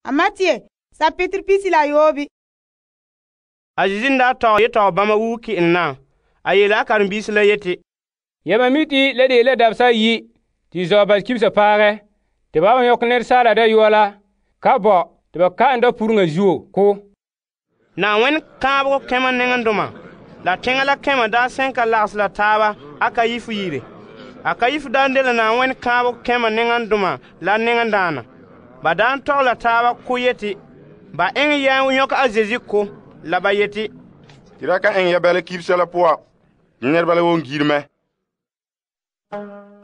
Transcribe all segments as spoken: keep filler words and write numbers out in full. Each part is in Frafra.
a Matthew sapitr pisi la yoobi. A Yesu n daa tɔgɛ yetɔgɔ bama wuo ke'en na, a yele a karen-biisi la yeti, Yamam mi te la de la dabesa ayi te zɔ ba kibisa paagɛ, te ba nyɔkɛ Asaala Dayɔa la ka bɔ te ba ka'an dapuruŋa zuo ko. Na'ayenɛ kaanbegɔ kɛma nɛŋdoma la teŋa la kɛma daa sɛn ka lagahɛ la taaba Akayifu yire. Akayifu daa dela Na'ayenɛ kaanbegɔ kɛma nɛŋdoma la nɛŋdaana. Ba daa tɔgɛ la taaba ko yeti ba eŋɛ yɛn nyɔkɛ a Zeezi ko, la ba yeti, Ti da ka eŋɛ ya bɛla kibisa la poan, ne nɛreba la won gire mɛ.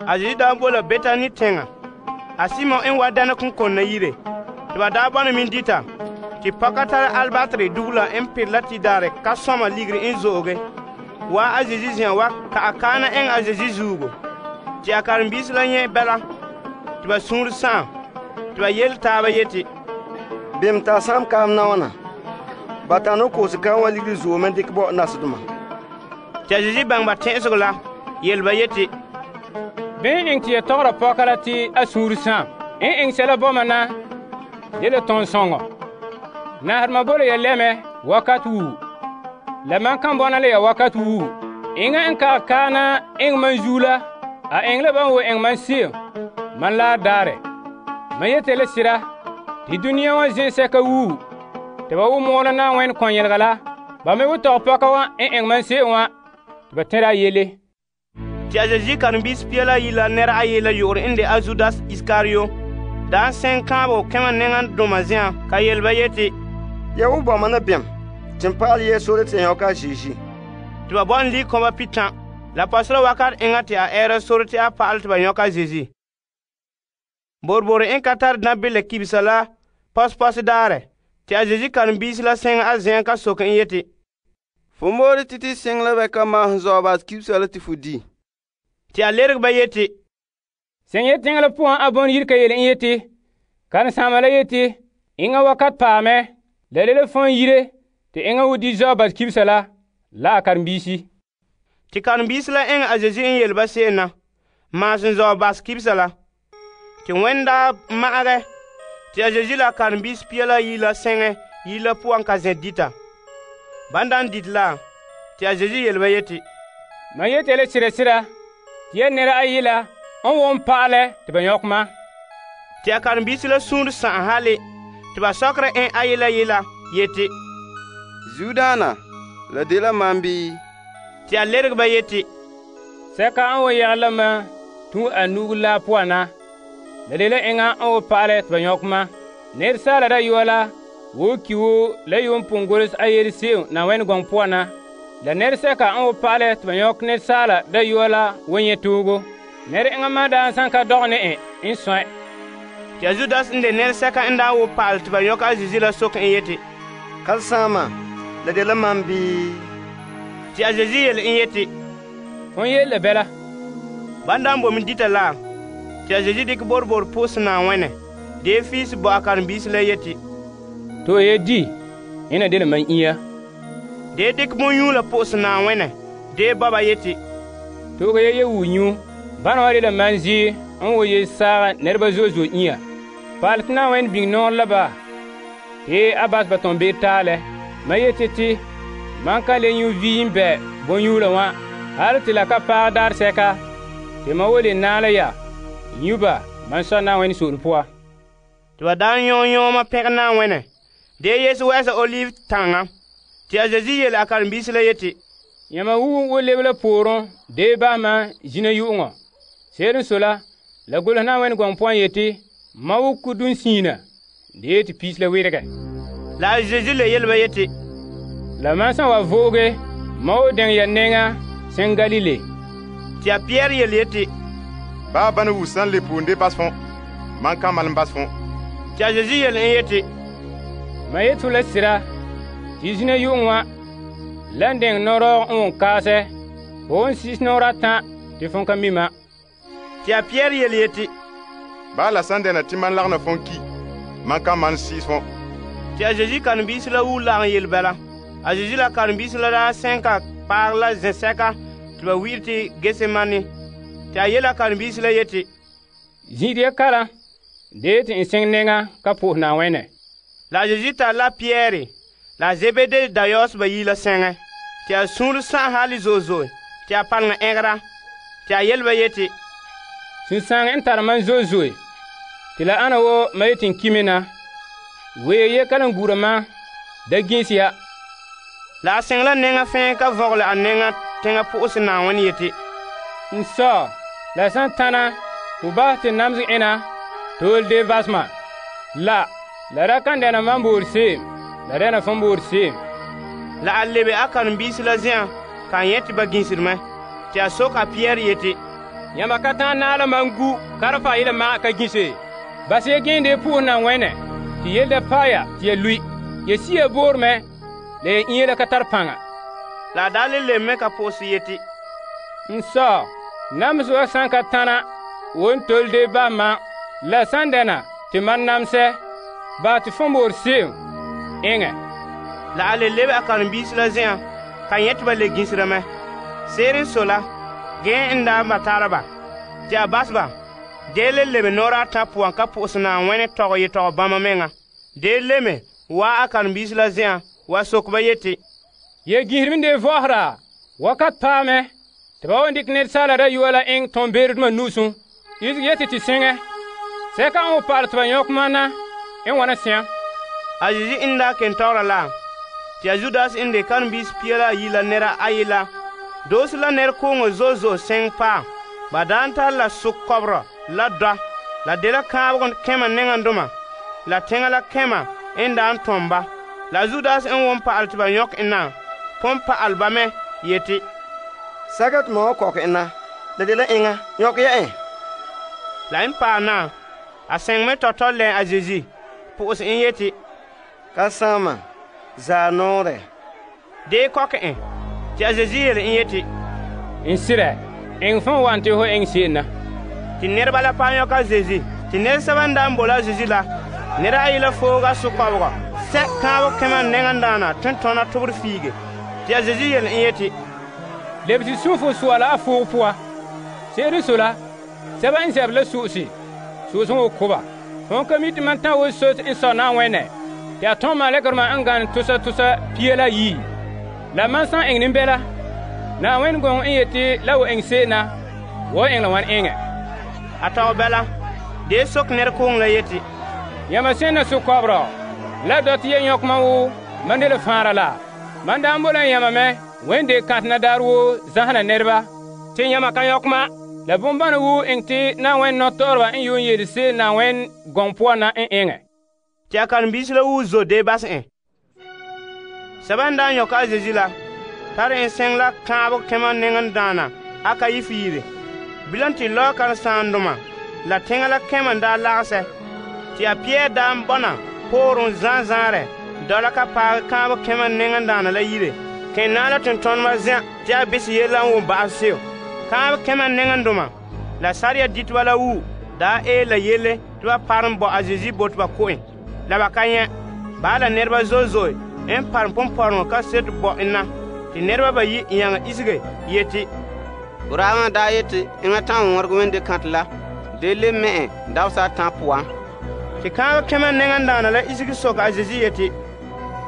A Zeezi daa bo la Betani teŋa, a Simon n wa dɛna konkona yire. Te ba daa bɔna min dita, te pɔka tara albatri dugula n pere la tidaare ka sɔma ligiri n zo'oge, wa a Zeezi zen'an wa ka a kaana eŋɛ a Zeezi zuugo. Te a karen-biisi la nyɛ bɛla, te ba suunre sa'am, te ba yele taaba yeti, Bem ta sam kaam na wana? Ba ta no koose kan wa ligiri zuo men dikɛ bo nasedoma. Te a Zeezi baŋɛ ba tɛ'ɛsegɔ la, yele ba yeti, Bɛn eŋ te ya tɔgɔra pɔka la te a suunre sãam. En eŋ sɛla bɔma na de la tõnd sõŋɔ. Nahadema bo la ya lɛmɛ wakat wuu. La man kan bɔna la ya wakat wuu. Eŋa n ka kaana eŋ man zuo la, a eŋ la ban wo eŋ man se'em, man laar daarɛ. Man yete la sira, te duniya wa zẽnsɛka wuu, te ba wo mɔɔla Na'ayenɛ kɔn-yɛlega la, ba me wo tɔgɛ pɔka wa n eŋ man se'em wa, te ba tẽra a yele. Te a Zeezi karen-biisi pia la yi la nɛra ayi la yo'ore n de a Zudas Iskariyo, daa sɛn kaanbegɔ kɛma nɛŋdoma zen'an ka yele ba yeti, Ya wo bɔma na bɛm, te n pa'alɛ yɛ sore te n yɔka a Zeezi. te ba bɔna lii kɔma pitan, la pasora wakat eŋa te a ɛɛra sore te a pa'alɛ te ba nyɔka a Zeezi. Borbore n ka tare nabila kibisa la pɔspɔsi daarɛ, te a Zeezi karen-biisi la sɛŋa a zen'an ka soke n yeti, Fo moore titi seŋ la bɛ ka maahom zɔɔba kibisa la te fo di. te a lerege ba yeti, Sẽn yet teŋa la poan a bõn yir ka yele n yeti, karen-saama la yeti, Eŋa wakat paamɛ, la le la fõn yire te eŋa wo di zɔ bas kibisa la, la a karen-biisi. te karen-biisi la eŋɛ a Zeezi n yele ba se'em na, maasem zɔ bas kibisa la. Te wẽn daa ma'agɛ, te a Zeezi la a karen-biisi pia la yi la sɛŋɛ yi la puan ka zẽ dita. Ban daan dite la, te a Zeezi yele ba yeti, Man yete la sira-sira, te ya nɛra ayi la n wom pa'alɛ te ba nyɔk ma. te a karen-biisi la suunre sa'am hale, te ba sɔkera en a yela yela yeti, Zudaana, la de la mam bii? te a lerege ba yeti, Sɛka n wo yɛgɛ la ma tũ a nugu la poan na, la de la eŋa n wo pa'alɛ te ba nyɔk ma. Asaala Dayɔa la wo ki wo la yuun pʋʋn goles a yele se'em Na'ayenɛ gɔŋ poan na, la nɛresɛka n wo pa'alɛ te ba nyɔk Asaala Dayɔa la wo nyɛ toogo. Nɛr eŋa ma daa san ka dɔgɛ ne en n sõɛ. te a Zudas n de nɛresɛka n daa wo pa'alɛ te ba nyɔk a Zeezi la soke n yeti, Kalsaama, la de la mam bii? te a Zeezi yele n yeti, Fõn yele la bɛla. ban daan bo min dita la, te a Zeezi dikɛ borbor pʋʋsɛ Na'ayenɛ, dee fiisi bo a karen-biisi la yeti, To ye di, ina de la man iya. dee dikɛ bõn-yũula pʋʋsɛ Na'ayenɛ, dee baba yeti, Tooga ya ye wuu nyu, bana wa de la man zi n wo ye saaga nɛreba zo'e zo'e iya. Paal tɩ Na'ayenɛ biŋ nɔɔrɛ la ba, te a bas ba tõn beere taalɛ. Ma yete tɩ man ka le nyu viim bɛ bõn-yũula wã, hal tɩ la ka paag daar sɛka, tɩ ma wo le naala ya, nyu ba man sɔ Na'ayenɛ so'ole poa. te ba daan yõo yõoma pẽgɛ Na'ayenɛ, dee Yesu wɛɛsa olive taŋa. Te a Zeezi yele a karen-biisi la yeti, Yãma wu wo leb la pooren dee basma zĩna yu'uŋɔ. Seer n so la, la golsɛ Na'ayenɛ gɔŋ poan yeti, ma wo kudum siina, dee tɩ piis la weregɛ. la a Zeezi le yele ba yeti, La man sã wa vooge, ma wo dɛŋ ya nɛŋa sẽn Galile. te a Pɩyɛɛr yele yeti, Baa bana wu san le puun de bas fõn, man kan malem bas fõn. te a Zeezi yele n yeti, Ma yet fu la sira, tɩ zĩna yu'uŋ wã, la n dɛŋ nɔrɔɔg n wʋn kaasɛ, fo wʋn sis nɔɔrɛ atã tɩ fõn ka mi ma. te a Pɩyɛɛr yele yeti, Baa la san dɛna tɩ man lagna fõn ki, man kan man siis fõn. te a Zeezi karen-biisi la wuu lagem yele bɛla. A Zeezi la karen-biisi la daa sẽn ka paag la zẽ-sɛka tɩ ba wi'ire tɩ Getsemane. Te a yele a karen-biisi la yeti, Zĩ'de ya kalam, dee tɩ n sẽng nɛŋa ka po'os Na'ayenɛ. La a Zeezi tare la Pierre la Zebede dayɔɔs bayi la sɛŋɛ. Te a suunre sa'an hali zo'e zo'e. Te a paŋa ɛgera. Te a yele ba yeti, Sunsaaŋe n tare mam zo'e zo'e. Te la ana wo mam yeti n kime na. Wee ye kalam gura ma da ginsi ya. La a sɛŋ la nɛŋa fɛɛ ka vɔgele a nɛŋa teŋa po'ose Na'ayenɛ yeti, N sɔ, la san tana, ho bahɛ te namesɛ ena tool de basema. La, la ra kan dɛna mam boor se'em, la dɛna fon boor se'em. La a lebe a karen-biisi la zen'an ka a nyɛ te ba ginsere mɛ. Te a soke a Pierre yeti, Yãmba ka ta'an naala mam gu karfa yela maga ka ginse. Bas ya gende puus Na'ayenɛ, te yele da paɛ ya te ya lui. Ya si ya boor mɛ, la ya inya la ka tar paŋa. La a daa le lebe mɛ ka po'ose yeti, N sɔ, namesɛ wa san ka tana, won tole de ba ma, la san dɛna te mam namsɛ, ba te fon boor se'em eŋɛ. La a le lebe a karen-biisi la zen'an ka nyɛ te ba le ginsera mɛ. Se'ere n sɔe la, gee n daa ba tara ba. Te a bas ba, dee le lebe nɔɔrɛ ata poan ka po'ose Na'ayenɛ tɔgɛ yetɔgɔ bãmba meŋa. Dee le me waa a karen-biisi la zen'an wa soke ba yeti, Ya gisiri de vɔhera, wakat paɛ mɛ, te ba wan dikɛ asaala dayɔa la eŋɛ tõn beeredema nusum, isege yeti te seŋɛ. Sɛka n wo pa'alɛ te ba nyɔkɛ mam na, n wana sɛam. A Zeezi n daa ken tɔgɔra la, te a Judas n de karen-biisi pia la ayi la nɛra ayi la, doose la nɛrekooŋɔ zo'e zo'e sɛŋ paam. Ba daan tare la sokɔbɔrɔ la dɔ, la de la kãabegɔ kɛma nɛŋandoma, la teŋa la kɛma n daan tɔm ba. La Judas n won pa'alɛ te ba nyɔkɛ en na, pon pa'alɛ ba mɛ yeti, Sɛka te mam wa kɔkɛ en na, la de la eŋa, nyɔkɛ ya en. La n paɛ na, a sɛŋ me tɔtɔ lɛ a Zeezi, po'ose en yeti, Ka saama, zaa nɔɔrɛ. dee kɔkɛ en. Te a Zeezi yele en yeti, N sirɛ, eŋ fõn wan te ho eŋ se'em na. Te nɛreba la paɛ nyɔkɛ a Zeezi. Te nɛresɛba n daan bo la a Zeezi la, nɛra ayi la fooga sokɔbegɔ, sɛ kãabeg kɛma nɛŋandaana tentɔna tobor fiige. Te a Zeezi yele en yeti, Leb te sũ fo soa la a foog poa. Se'ere so la, sɛba n zɛb la so'ose, so'ose wo koba. Fõn ka mi te man tã wo sot n sɔ Na'ayenɛ, te a tõm malekerema n gane tosa tosa pia la yii. La man san eŋ nimbɛla, Na'ayenɛ gɔŋ n yeti la wo eŋ se'em na, wo eŋ la wan eŋɛ. a tɔgɛ bɛla, dee soke nɛrekooŋ la yeti, Yãmba sẽn na sokɔbrɔ, la dɔtɛ ya yõk mam wo man de la fãara la. Man daan bola n yãmba mɛ, wẽn de kãtena daar woo zãsena nɛreba, tɩ yãmba ka yõk ma. La bõn-bãna woo eŋ tɩ Na'ayenɛ nɔtɔɔreba n yoon yele se'em Na'ayenɛ gɔŋ poan na n eŋɛ. Te a karen-biisi la wuu zo dee bas en. Sɛba n daan yɔka a Zeezi la, tare en sɛŋ la kãabeg kɛma nɛŋandaana a ka yi fiire. Bilam tɩ lɔɔ karen-saandoma la teŋa la kɛma n daa lagesɛ. Tɩ a Pierre daan bɔna pooren zãa zãarɛ dɔla ka paagɛ kãabeg kɛma nɛŋandaana la yire. Ken naa la tontonema zã tɩ a bes yel la n wʋm ba'as seo. Kãabeg kɛma nɛŋandoma la sariya diteba la wuu daa ee la yelle tɩ ba parem bɔ a Zeezi bo tɩ ba ko en. La ba ka nyɛ. Baa la nɛreba zo'e zo'e n parem pʋmpɔreŋɔ ka set bɔ en na. Tɩ nɛreba bayi n yãŋa isege yeti, Boraabã daa yeti eŋa tãn wõreg wẽnde kãte la, dee le me en dabsa a tã poan. Tɩ kãabeg kɛma nɛŋandaana la isege sok a Zeezi yeti,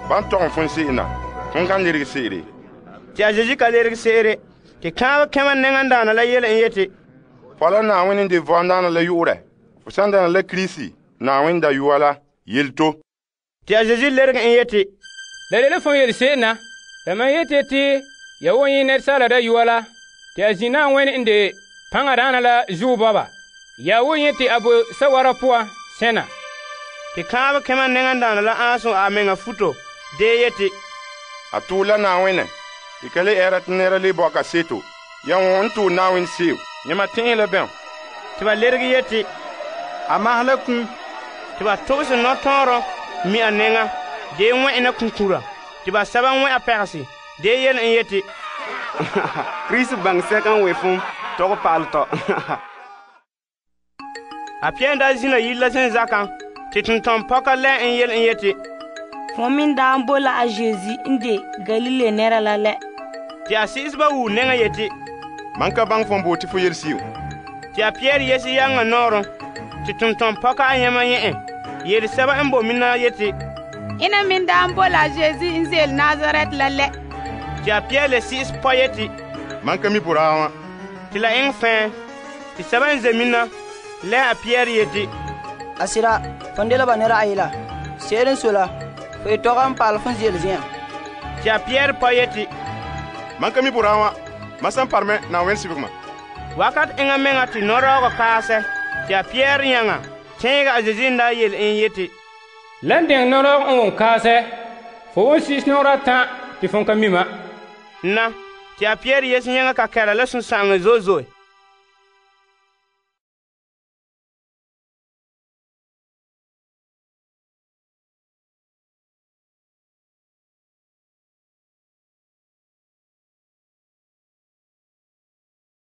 Ban tɔgem fõn se'em na, fõn kan lerg se'ere. tɩ a Zeezi ka lerg se'ere. Tɩ kãabeg kɛma nɛŋandaana la yele n yeti, Fɔ la Na'ayenɛ n de vɔndaana la yu'urɛ. Fo sãn dɛna la Kirisi, Na'ayenɛ dayɔa la, yel to. tɩ a Zeezi lerg n yeti, La de la fõn yel se'em na, la man yete tɩ ya won yẽ nɛresaala dayɔa la, tɩ a zĩ Na'ayenɛ n de pãngadaana la zuo bɔba. Ya won yẽ tɩ a bo sawara poa sẽna. tɩ kãabeg kɛma nɛŋandaana la ãasem a menga futo dee yeti, A tʋʋr la Na'ayenɛ, tɩ ka le ɛɛra tɩ nɛra le bɔka seto. Ya wõ n tʋʋr Na'ayenɛ seo, yãmba tẽe la bɛo. tɩ ba lerg yeti, A maas la kũum. tɩ ba tobs nɔtɔɔrɔ mi a nɛŋa dee wẽ'ena kũkũra. Tɩ ba sɛba n wẽ a pɛgse dee yel n yeti, Kirisi baŋ sɛka n we fõn, tɔg paalɛ tɔ. a Pierre daa zĩna yire la sẽn zakã tɩ tʋm-tɔm-pɔka lɛ n yel n yeti, Fõ min daan bo la a Zeezi n de Galile nɛra la lɛ. tɩ a sɩɩsba wuu nɛŋa yeti, Man ka baŋ fõn bo tɩ fo yel sɩɩm. tɩ a Pierre yɛs yaŋa nɔɔrẽ tɩ tʋm-tɔm-pɔka a yãmba yẽ en yel sɛba n bo mina yeti, Ina min daa n boe la Yesu n ze'ele Nazaret la lɛ. Te a Pierre le si'is pɔ yeti, Mam ka mi boraa wã. te la eŋɛ fɛɛ. Te sɛba n ze mina lɛ a Pierre yeti, A sira, fon dela ba nɛra ayela. Se'ere n sɔe la, fo ye tɔgɛ n paale fon ze'ele zen'an. te a Pierre pɔ yeti, Mam ka mi boraa wã. Mam san paremɛ Na'ayenɛ sibegema. wakat eŋa meŋa te nɔrɔɔgɔ kaasɛ. Te a Pierre yãŋa tẽega a Zeezi n daa yele en yeti, Lan deng nɔrɔg n won kaasɛ, fo won sis nɔgera tã te fon ka mi ma. Na, te a Pierre yese yãŋa ka kɛra la sũsã'aŋɔ zo'e zo'e.